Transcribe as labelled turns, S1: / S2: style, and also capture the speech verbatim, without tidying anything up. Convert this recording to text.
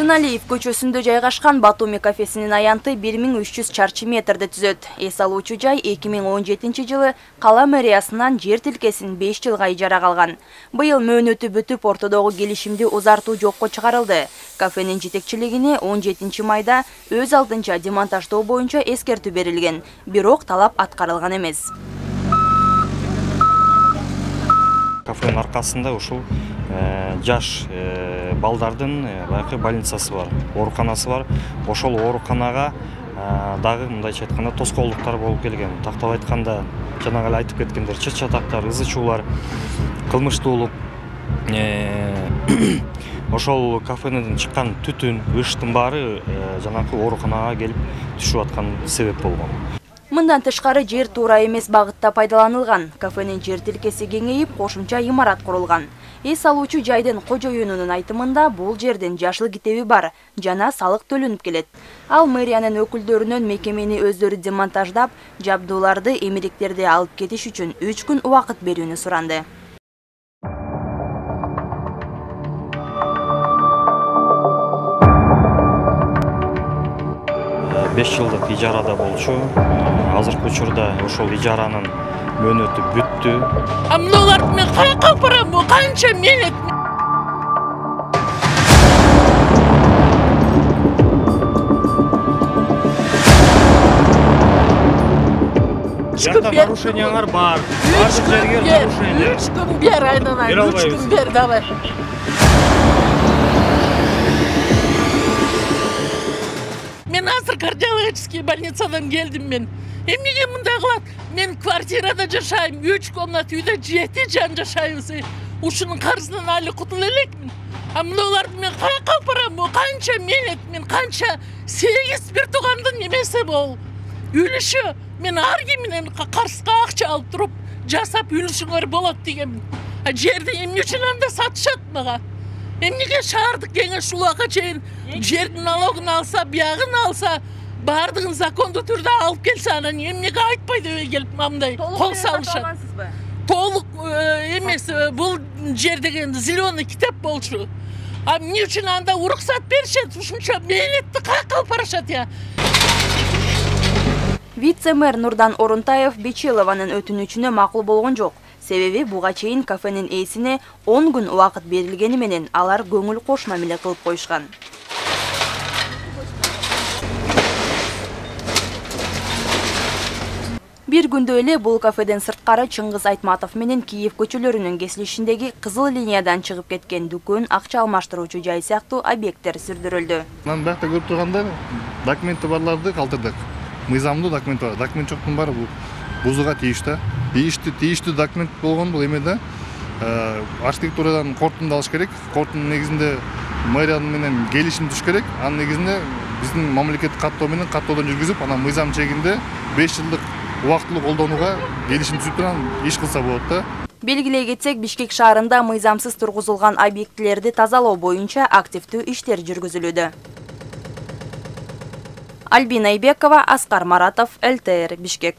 S1: Тыналиев көчөсүндө жайгашкан Батуми кафесинин аянты бир миң үч жүз чарчы метрди түзөт. Эс алуучу жай эки миң он жетинчи жылы кала мэриясынан жер тилкесин беш жылга ижарага алган. Быйыл мөөнөтү бүтүп, ортодогу келишимди узартуу жокко чыгарылды. Кафенин жетекчилигине он жетинчи майда өз алдынча демонтаждоо боюнча эскертүү берилген, бирок талап аткарылган эмес.
S2: Кафенин аркасында ушул жаш балдардын баягы больницасы бар, ооруканасы бар. Ошол ооруканага дагы мындайча айтканда тоскоолдуктар болуп келген. Тактап айтканда, жанагы эле айтып кеткендер, чыт чатактар, ызы чуулар, кылмыштуулук. Ошол кафенин чыккан түтүн, ыштын баары жанагы ооруканага келип түшүп аткан себеп болгон.
S1: Мындан тышкары жер туура эмес багытта пайдаланылган. Кафенин жер тилкеси кеңейип, кошумча имарат курулган. Эс алуучу жайдын кожоюнунун айтымында бул жердин жашыл китеби бар жана салык төлөнүп келет. Ал мэриянын өкүлдөрүнөн мекемени өздөрү демонтаждап, жабдууларды, эмеректерди алып кетиш үчүн үч күн убакыт берүүнү суранды.
S2: беш жылдык ижарада болчу. Азыркы учурда ошол ижаранын мөөнөтү бүттү.
S3: А мыналарды мен каяка алып барам? Канча мелет?
S2: Жарда нарушениялар бар. Бардык жерге нарушение.
S3: Үч күн бер, айнанай. Үч күн бер, давай. Мен азыр кардиологический больницадан келдим мен. Эмнеге мындай кылат? Мен квартирада жашайм, үч комнат үйдө жети жан жашайбыз. Ушунун карызынан али кутула элекмин. А мыналарды мен каяка алып барам? Канча мелет, мен канча сегиз бир туугандын немеси бол. Үлүшү, мен ар ким менен карызга акча алып туруп, жасап үлүшүңөр болот дегенмин. А жерди эмне үчүн анда сатышат мага? Эмнеге шаардык кеңеш улакка чейин жердин налогун алса, биягын алса, бардыгын закондуу түрдө алып келсе, анан эмнеге айтпай деп келип мындай кол салышат. Толук эмес, бул жер деген зеленый китеп болчу. А эмне үчүн анда уруксат беришет? Ушунча мээлетти каяка алып барышат я?
S1: Вице-мэр Нурдан Орунтаев Бечилованын өтүнүчүнө макул болгон жок. Себеби буга чейин кафенин ээсине он күн убакыт берилгени менен алар көңүл кош мамиле кылып коюшкан. Бир күндө эле бул кафеден сырткары Чыңгыз Айтматов менен Киев көчөлөрүнүн кесилишиндеги кызыл линиядан чыгып кеткен дүкөн, акча алмаштыруучу жай сыяктуу объекттер сүрдүрүлдү.
S4: Анан биякта көрүп турганда документи барларды калтырдык. Мыйзамдуу документ бар. Документ жоктун баары бул бузууга тийиштүү. Тийиштүү, тийиштүү документ болгон бул эме да. Архитектурадан корутунду алыш керек. Корутундун негизинде мэрия менен келишим түзүш керек. Анын негизинде биздин мамлекеттик каттоо менен каттоодон жүргүзүп, анан мыйзам чегинде беш жылдык убактылуу колдонууга келишим түзүп турган иш кылса болот да.
S1: Белгилей кетсек, Бишкек шаарында мыйзамсыз тургузулган объектилерди тазалоо боюнча активдүү иштер жүргүзүлүүдө. Альбина Айбекова, Аскар Маратов, эл тэ эр, Бишкек.